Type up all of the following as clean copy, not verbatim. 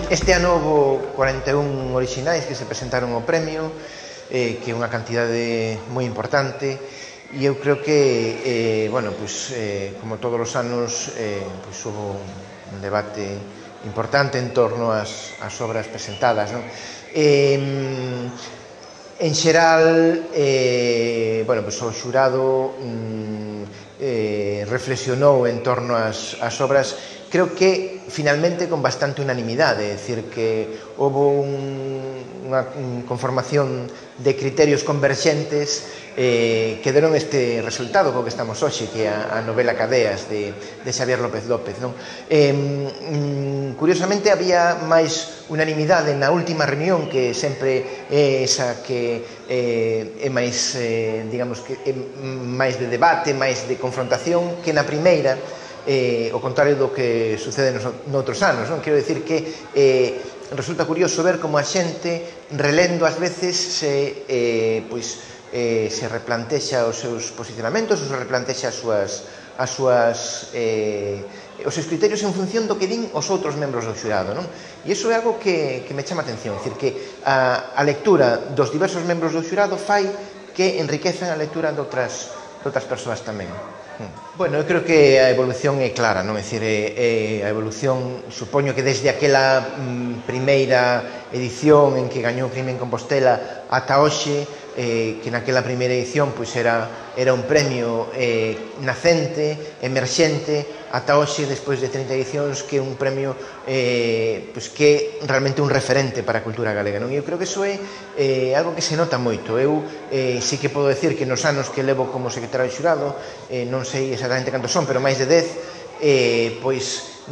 Este ano houve 41 orixinais que se presentaron ao premio, que é unha cantidade moi importante, e eu creo que, como todos os anos, houve un debate importante en torno ás obras presentadas. En xeral, o xurado reflexionou en torno ás obras, creo que finalmente con bastante unanimidade, é dicir, que houve unha conformación de criterios converxentes que deron este resultado co que estamos hoxe, que é a novela Cadeas de Xavier López López. Curiosamente, había máis unanimidade na última reunión, que sempre é esa que é máis, digamos, que é máis de debate, máis de confrontación, que na primeira, ao contrario do que sucede noutros anos. Quero dicir que resulta curioso ver como a xente, relendo ás veces, se replantexa os seus posicionamentos, ou se replantexa os seus criterios en función do que din os outros membros do xurado. E iso é algo que me chama a atención, é dicir, que a lectura dos diversos membros do xurado fai que enriquezan a lectura de outras persoas tamén. Bueno, eu creo que a evolución é clara, non? É dicir, a evolución, supoño que desde aquela primeira edición en que gañou Crime en Compostela ata hoxe, que naquela primeira edición era un premio nacente, emerxente, ata hoxe, despois de 30 edicións, que é un premio que é realmente un referente para a cultura galega. Eu creo que iso é algo que se nota moito. Eu sí que podo decir que nos anos que levo como secretario de xurado, non sei exactamente cantos son, pero máis de 10,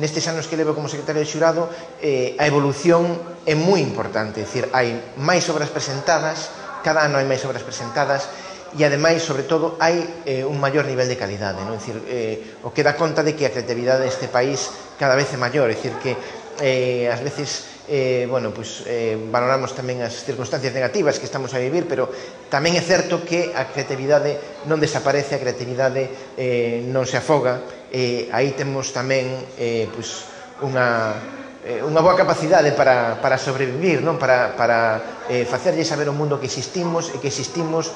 nestes anos que levo como secretario de xurado, a evolución é moi importante. É dicir, hai máis obras presentadas, cada ano hai máis obras presentadas, e ademais, sobre todo, hai un maior nivel de calidade. É dicir, o que dá conta de que a creatividade deste país cada vez é maior. É dicir, que ás veces valoramos tamén as circunstancias negativas que estamos a vivir, pero tamén é certo que a creatividade non desaparece, a creatividade non se afoga. Aí temos tamén unha boa capacidade para sobrevivir, para facerlle saber ao mundo que existimos, e que existimos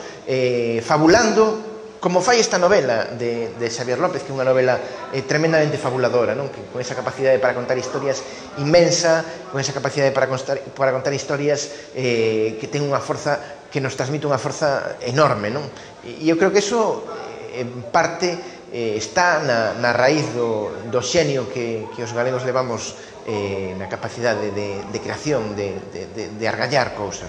fabulando, como fai esta novela de Xavier López, que é unha novela tremendamente fabuladora, con esa capacidade para contar historias inmensa, con esa capacidade para contar historias que ten unha forza, que nos transmite unha forza enorme. E eu creo que iso, en parte, está na raíz do xenio que os galegos levamos na capacidade de creación, de argallar cousas.